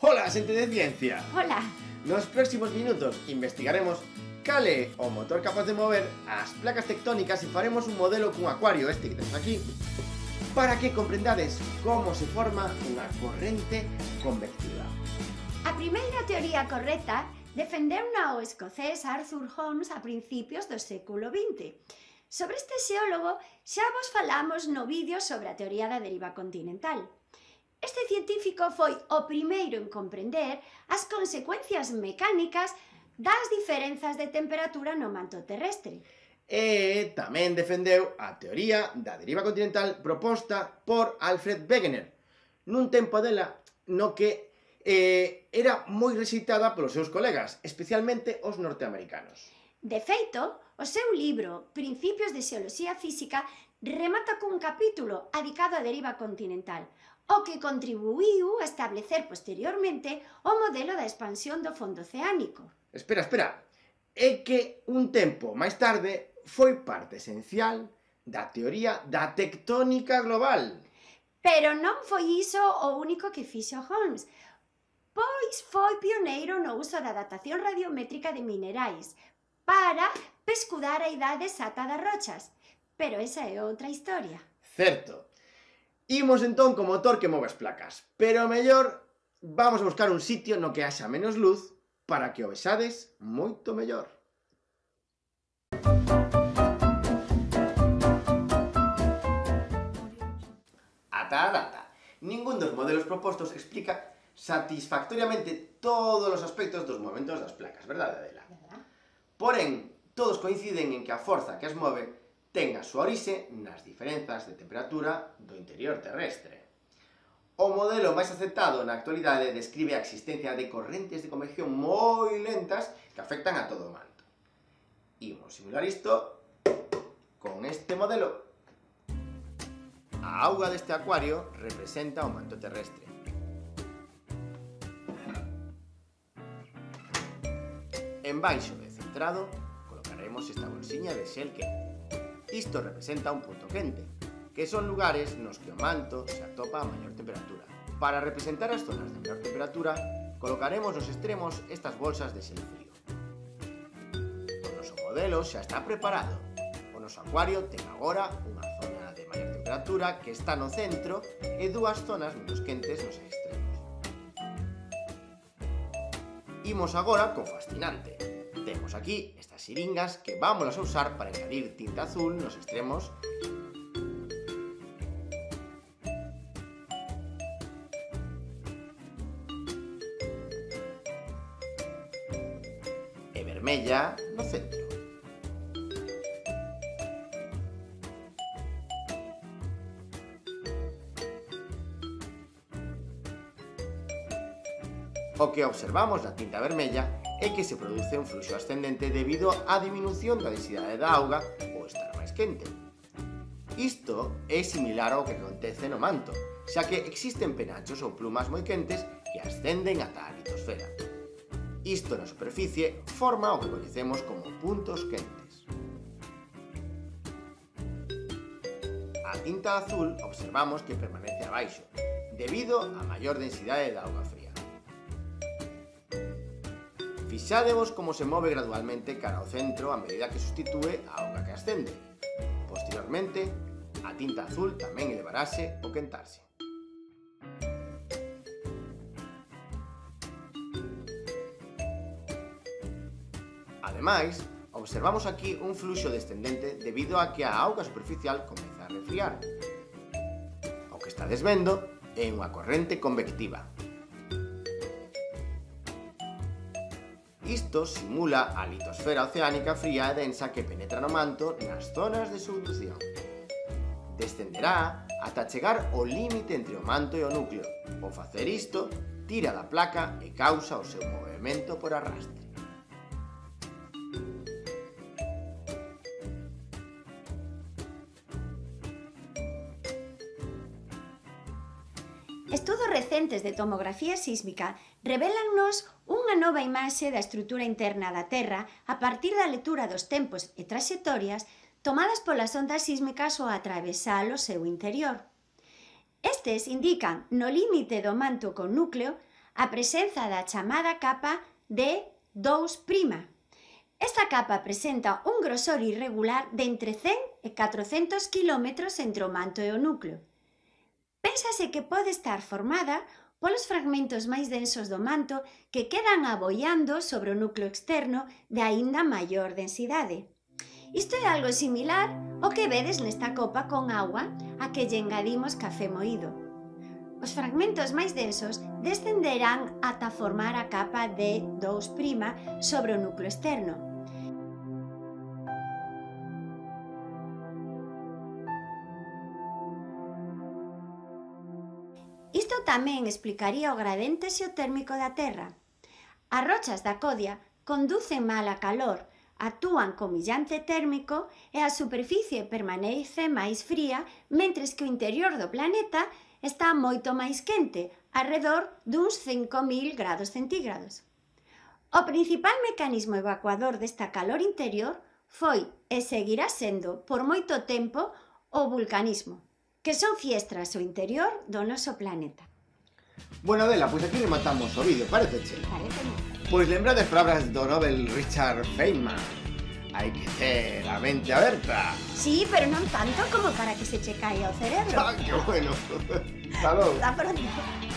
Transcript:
Ola, xente de ciencia! Ola! Nos próximos minutos investigaremos cal é o motor capaz de mover as placas tectónicas e faremos un modelo cun acuario este que temos aquí para que comprendades como se forma unha corrente convectiva. A primeira teoría correcta defendeuna o escocés Arthur Holmes a principios do século XX. Sobre este xeólogo xa vos falamos no vídeo sobre a teoría da deriva continental. Este científico foi o primeiro en comprender as consecuencias mecánicas das diferenzas de temperatura no manto terrestre. E tamén defendeu a teoría da deriva continental proposta por Alfred Wegener nun tempo dela no que era moi rexeitada polos seus colegas, especialmente os norteamericanos. De feito, o seu libro Principios de Xeoloxía Física remata cun capítulo dedicado á deriva continental, o que contribuíu a establecer posteriormente o modelo da expansión do fondo oceánico. Espera, é que un tempo máis tarde foi parte esencial da teoría da tectónica global. Pero non foi iso o único que fixo Holmes, pois foi pioneiro no uso da datación radiométrica de minerais para pescudar a idade exata das rochas. Pero esa é outra historia. Certo. Imos entón co motor que move as placas, pero mellor vamos a buscar un sitio no que haxa menos luz para que o vexades moito mellor. Ata a data, ningún dos modelos propostos explica satisfactoriamente todos os aspectos dos movementos das placas, verdade, Adela? Porén, todos coinciden en que a forza que as move ten a súa orixe nas diferenzas de temperatura do interior terrestre. O modelo máis aceptado na actualidade describe a existencia de correntes de convección moi lentas que afectan a todo o manto. Imos simular isto con este modelo. A auga deste acuario representa o manto terrestre. En baixo e centrado colocaremos esta bolsiña de xel quente. Isto representa un punto quente, que son lugares nos que o manto se atopa a maior temperatura. Para representar as zonas de menor temperatura, colocaremos nos extremos estas bolsas de xel frío. O noso modelo xa está preparado. O noso acuario ten agora unha zona de maior temperatura que está no centro e dúas zonas menos quentes nos extremos. Imos agora co fascinante. Temos aquí estas xiringas que vamos a usar para engadir tinta azul nos extremos e vermella no centro. O que observamos na tinta vermella é que se produce un fluxo ascendente debido á diminución da densidade da auga ou estar máis quente. Isto é similar ao que acontece no manto, xa que existen penachos ou plumas moi quentes que ascenden ata a litosfera. Isto na superficie forma o que coñecemos como puntos quentes. A tinta azul observamos que permanece abaixo, debido á maior densidade da auga fría. Fixádevos como se move gradualmente cara ao centro a medida que substitúe a auga que ascende. Posteriormente, a tinta azul tamén elevarase ao quentarse. Ademais, observamos aquí un fluxo descendente debido a que a auga superficial comeza a resfriar. O que estades vendo é unha corrente convectiva. Isto simula a litosfera oceánica fría e densa que penetra no manto nas zonas de subducción. Descenderá ata chegar ao límite entre o manto e o núcleo. Ao facer isto, tira da placa e causa o seu movemento por arrastre. Estudos recentes de tomografía sísmica revélannos unha nova imaxe da estrutura interna da Terra a partir da lectura dos tempos e traxectorias tomadas polas ondas sísmicas ao atravesar o seu interior. Estes indican no límite do manto con núcleo a presenza da chamada capa de 2'. Esta capa presenta un grosor irregular de entre 100 e 400 km entre o manto e o núcleo. Pénsase que pode estar formada polos fragmentos máis densos do manto que quedan aboiando sobre o núcleo externo de aínda maior densidade. Isto é algo similar ao que vedes nesta copa con agua a que lle engadimos café moído. Os fragmentos máis densos descenderán ata formar a capa de 2' sobre o núcleo externo. Isto tamén explicaría o gradiente xeotérmico da Terra. As rochas da codia conducen mal a calor, actúan como illante térmico e a superficie permanece máis fría, mentres que o interior do planeta está moito máis quente, arredor duns 5.000 grados centígrados. O principal mecanismo evacuador desta calor interior foi e seguirá sendo por moito tempo o vulcanismo, que son fiestras ao interior do noso planeta. Bueno, Adela, pois aquí rematamos o vídeo, paréceche? Paréceme. Pois lembrades palabras do Nobel Richard Feynman. Hai que ter a mente aberta. Sí, pero non tanto como para que se che caia o cerebro. ¡Ah, qué bueno! Hasta logo. Hasta pronto.